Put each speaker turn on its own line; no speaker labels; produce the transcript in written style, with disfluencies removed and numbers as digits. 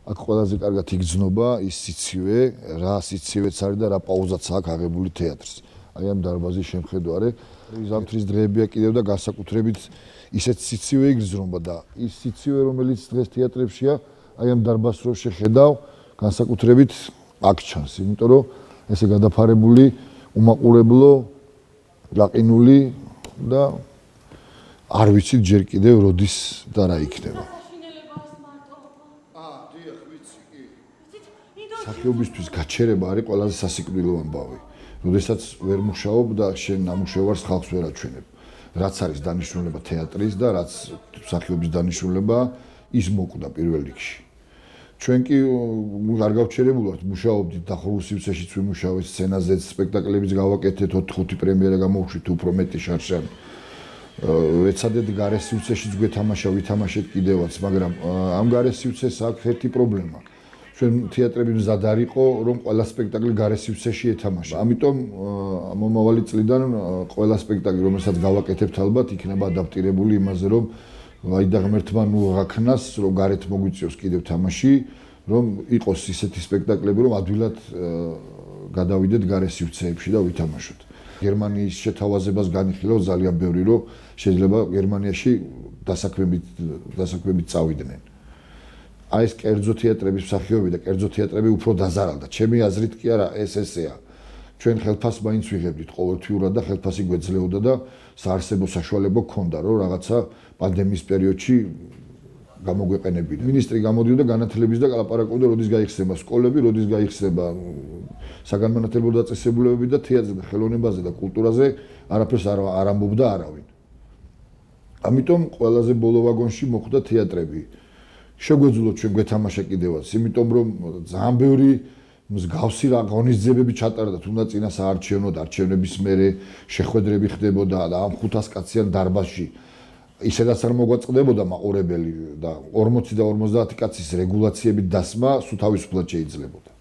აქ ყველაზე კარგად იგრძნობა ის სიცივე, რა სიცივეც არის და რა პაუზაც აქვს აღებული თეატრს. აი ამ დარბაზის შემხედვარე, ზამთრის დღეებია კიდევ და განსაკუთრებით ისეთ სიცივე იგრძნობა და ის სიცივე, რომელიც დღეს თეატრებშია, აი ამ დარბაზს რო შეხედავ, განსაკუთრებით აქ ჩანს, იმიტომ რომ ესე გადაფარებული, უმაყურებლო, ლაყინული და არ ვიცით ჯერ კიდევ როდის და რა იქნება. სახეობისთვის გაჩერება არის ყველაზე სასიკვდილო ამბავი. როდესაც ვერ მუშაობ და შენ ნამუშევარს ხალხს ვერ აჩვენებ. რაც არის დანიშნულება თეატრის და რაც სახეობის დანიშნულება, ის მოკვდა პირველ რიგში. ჩვენ კი არ გავჩერებული ვართ, მუშაობდით დახურულ სივრცეშიც ვიმუშავეთ, სცენაზეც, სპექტაკლებიც გავაკეთეთ, 4-5 პრემიერა გამოვშვით, უფრო მეტი შარშან. ვეცადეთ გარე სივრცეშიც გვეთამაშა, ვითამაშეთ კიდევაც, მაგრამ ამ გარე სივრცეს აქვს ერთი პრობლემა. ჩვენ თეატრები მზად არ იყო, რომ ყველა სპექტაკლი გარე სივრცეში ეთამაშა. ამიტომ მომავალი წლიდან ყველა სპექტაკლი, რომელსაც გავაკეთებთ ალბათ, იქნება ადაპტირებული იმაზე, რომ აი და ღმერთმა ნუ აღაქნას, რომ გარეთ მოგვიწევს კიდევ თამაში, რომ იყოს ისეთი სპექტაკლები, რომ ადვილად გადავიდეთ გარე სივრცეებში და ვითამაშოთ. გერმანიის შეთავაზებას განიხილავ ძალიან ბევრი, რომ შეიძლება გერმანიაში დასაქმებით წავიდნენ. აი ეს კერძო თეატრების მსახიობები და კერძო თეატრები უფრო დაზარალდა. ჩემი აზრით კი არა, ეს ესეა. ჩვენ ხელფასს მაინც ვიღებდით ყოველთვიურად და ხელფასი გვეძლეოდა და საარსებო საშუალება გქონდა, რომ რაღაცა პანდემიის პერიოდში გამოგვეყენებინა. მინისტრი გამოდიოდა განათლების და ლაპარაკობდა, როდის გაიხსნება სკოლები, როდის გაიხსნება საგანმანათლებლო დაწესებულებები და თეატრზე და ხელოვნებაზე და კულტურაზე არაფერს არ ამბობდა არავინ. ამიტომ ყველაზე ბოლო ვაგონში მოხვდა თეატრები. შეგვეძლოთ ჩვენ გვეთამაშა კიდევაც, იმიტომ რომ ძალიან ბევრი მსგავსი რა ღონისძიებები ჩატარდა, თუნდაც წინა საარჩევნოდ, არჩევნების მერე შეხვედრები ხდებოდა და ამ 500 კაციან დარბაზში ისედაც არ მოგვაწყდებოდა მაყურებელი და 40 და 50 კაცის რეგულაციებით დასმა სულ თავისუფლად შეიძლებოდა.